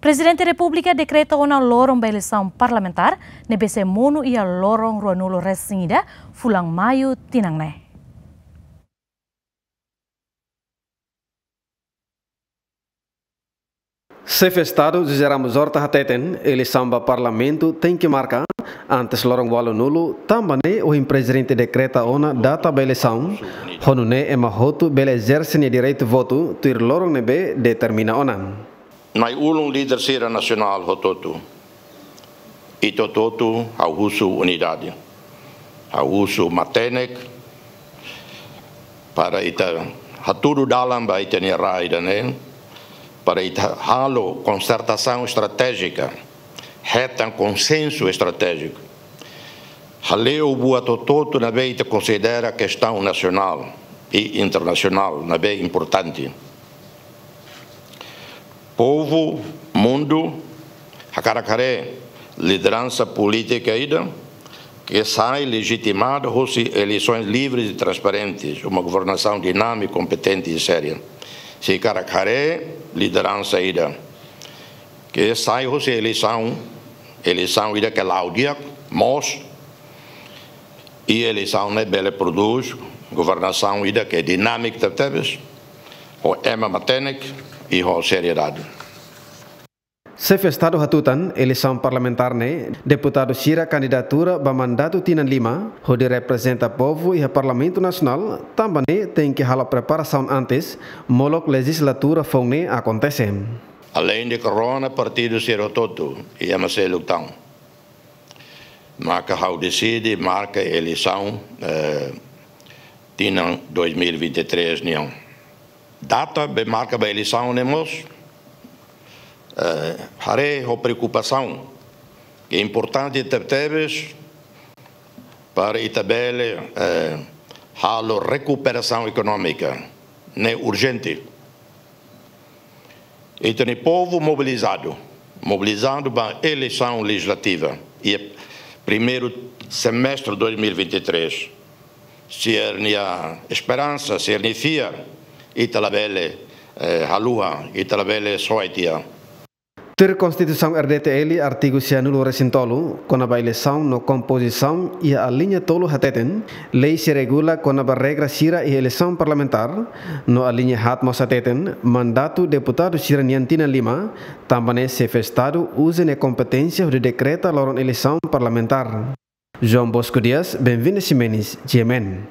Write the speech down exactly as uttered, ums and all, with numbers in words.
Prezidente Repúblika dekreta ona loron ba eleisaun parlamentár ne'ebé sei monu iha loron ruanulu resin ida fulan Maiu tinan ne'e. Xefe Estadu José Ramos Horta hateten, eleisaun ba Parlamentu tenke marka antes loron ualunulu, tanba ne'e ohin Prezidente dekreta ona data ba eleisaun, ho nune'e ema hotu bele ezerse nia direitu votu tuir loron ne'ebé determina ona. Na'i-ulun, líder sira nasionál hotu-hotu. Ita hotu-hotu ha'u husu unidade. Ha'u husu matenek para ita hatudu dalan ba ita-nia rai ida-ne'e, para ita halo konsertasaun estratéjika, hetan konsensu estratéjiku. Hale'u buat hotu-hotu ne'ebé ita konsidera kestaun nasionál i internasionál ne'ebé importante. Povu, mundu hakarak haree lideransa polítika ida ke sai lejitimada hosi eleisoens livres e transparentes, uma governasaun dinámika, kompetente i séria. Sira hakarak haree lideransa ida ke sai hosi eleisaun, eleisaun ida ke la'o di'ak, moos, i eleisaun ne'e bele prodús governasaun ida ke dinámika tebetebes, ho ema matenek i ho seriedade. Xefe Estadu hatutan, eleisaun parlamentár ne'e, deputadu sira kandidatura ba mandatu tinan lima, hodi reprezenta povu iha Parlamentu Nasionál, tanba ne'e tenke halo preparasaun antes, molok lejizlatura foun ne'e akontese. Aleinde ke rona partidu sira hotu-hotu, i ema seluk tan. Maka ha'u deside marka eleisaun, eh, tinan dois mil e vinte e três nian. Data be marka ba eleisaun ne'e mós, eh, haree ho preokupasaun ke importante tebetebes para ita bele, eh, halo rekuperasaun ekonómika, ne'e urjente. Ita-nia povu mobilizadu, mobilizadu ba eleisaun lejizlativa iha primeiru semestre dois mil e vinte e três. Sira-nia esperansa, sira-nia fiar, ita labele, eh, haluha, ita labele soe tiha. Tuir Konstituisaun R D T L, artigu sianulu resin tolu, kona-ba eleisaun no kompozisaun iha aliña tolu hateten, lei sei regula kona-ba regra sira iha eleisaun parlamentár, no aliña haat mós hateten, mandatu deputadu sira-nian tinan lima, tanba ne'e Xefe Estadu uza nia kompeténsia hodi dekreta loron eleisaun parlamentár. João Bosco Dias, Benvinda Ximenes, G M N.